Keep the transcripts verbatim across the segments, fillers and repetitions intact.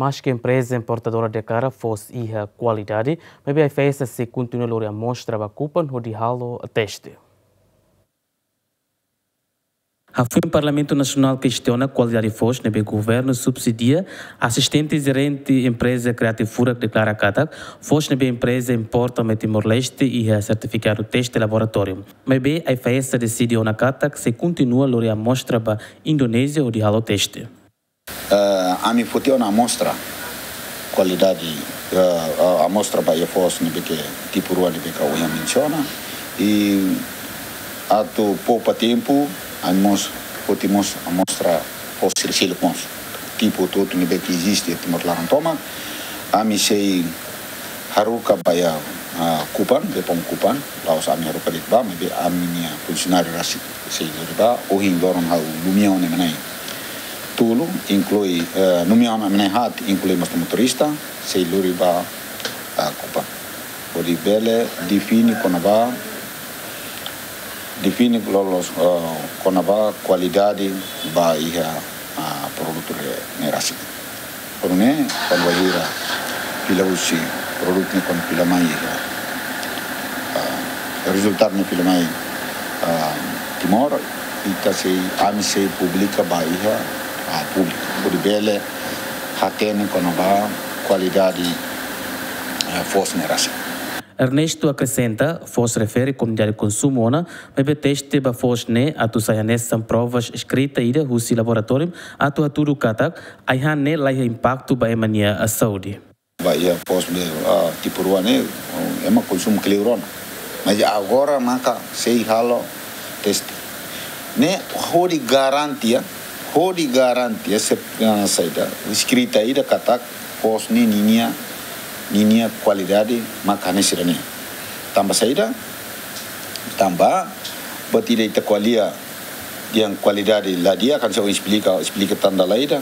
Maske empreza importadora deklara foos iha kualidade, maibé AIFAESA sei kontinua lori amostra ba Kupang hodi halo teste. Hafoin Parlamentu Nasionál kestiona kualidade foos ne'ebé governu subsidia, asistente jerente empreza Creative Furak deklara katak foos ne'ebé empreza importa mai Timor-Leste iha sertifikadu teste laboratóriu. Maibé AIFAESA deside ona katak sei kontinua lori amostra ba Indonézia hodi halo teste. Eh, ami foti ona amostra kualidade, eh, eh, amostra ba iha foos ne'ebé ke tipu rua ne'ebé ke ohin mensiona. I atu poupa tempu, ami mós foti mós amostra foos sira seluk mós. Tipu hotu-hotu ne'ebé ke eziste iha Timor laran tomak. Ami sei haruka ba iha, ah, Kupang, depois Kupang, la'ós ami haruka de'it ba, maibé ami-nia funsionáriu rasik sei lori ba, ohin loron ha'u nomeia ona ema na'in tolu, inklui, eh, nomeia ona ema na'in haat, inklui mós motorista, sei lori ba, ah, Kupang. Hodi bele define kona-ba, define loloos, eh, kona-ba kualidade ba iha, ah, produtu ne'e rasik. Kuandu ne'e, kuandu bainhira fila husi produtu ne'e kuandu fila mai iha, ah, rezultadu ne'e fila mai, ah, Timor, ita sei, ami sei publika ba iha, ah, públiku. Hodi bele hatene kona-ba kualidade, ah, foos ne'e rasik. Ernesto akresenta, foos refere komunidade konsumu ona, maibé teste ba foos ne'e atu sai hanesan provas eskrita ida husi laboratóriu atu hatudu katak ai-han ne'e laiha impaktu ba ema nia saúde. Ba iha foos ne'e, ah, tipu rua ne'e, ema konsumu kleur ona. Mas agora maka sei halo teste. Ne'e hodi garantia, hodi garantia se, ah, saida, eskrita ida katak foos ne'e ninia, ninia kualidade maka hanesan ne'e. Tanba saida, tanba buat ida ita ko'alia dehan kualidade la di'ak, kan se esplika, esplika tan dala ida,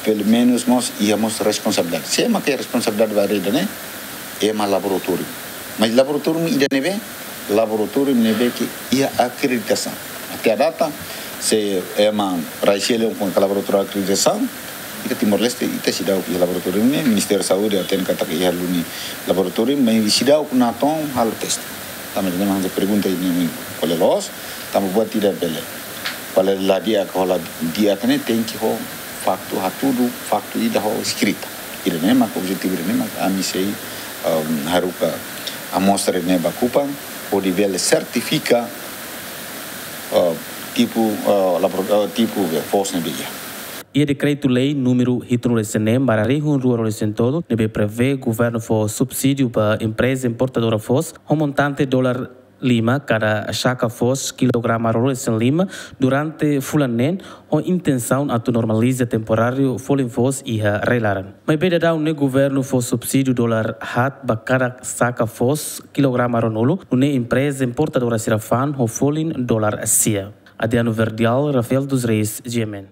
pelumenus mós iha mós responsabilidade. Sé maka iha responsabilidade ba ida-ne'e? Ema laboratóriu. Mas laboratóriu ida ne'ebé? Laboratóriu ne'ebé ke iha akreditasaun. Até à data, se ema rai seluk ne'e la iha laboratóriu akreditasaun, ita Timor-Leste, ita seidauk iha laboratóriu ne'e, Ministériu Saúde hatene katak iha duni laboratóriu, mas seidauk natoon halo teste. Tanba ne'e mak pergunta ne'e, kual é loos, tanba buat ida bele. Kualidade la di'ak ho la di'ak ne'e tenke ho faktu, hatudu faktu ida ho eskrita. Ida-ne'e mak objetivu ida-ne'e mak ami sei, um, haruka amostra ne'e ba Kupang, hodi bele sertifika, uh, tipu, uh, labor-, uh, tipu foos ne'ebé iha. Iha dekretu-lei númeru hitunulu-resin-neen barra rihun rua ruanulu-resin-tolu, ne'ebé prevee governu fó subsídiu ba empreza importadora foos, ho montante dolar lima kada saka foos kilograma ruanulu-resin-lima durante fulan neen, ho intensaun atu normaliza temporáriu folin foos iha rai-laran. Maibé daudaun ne'e governu fó subsídiu dolar haat ba kada saka foos kilograma ruanulu, nune'e empreza importadora sira fa'an ho folin dolar sia. Adriano Verdial, Rafael dos Reis, G M N.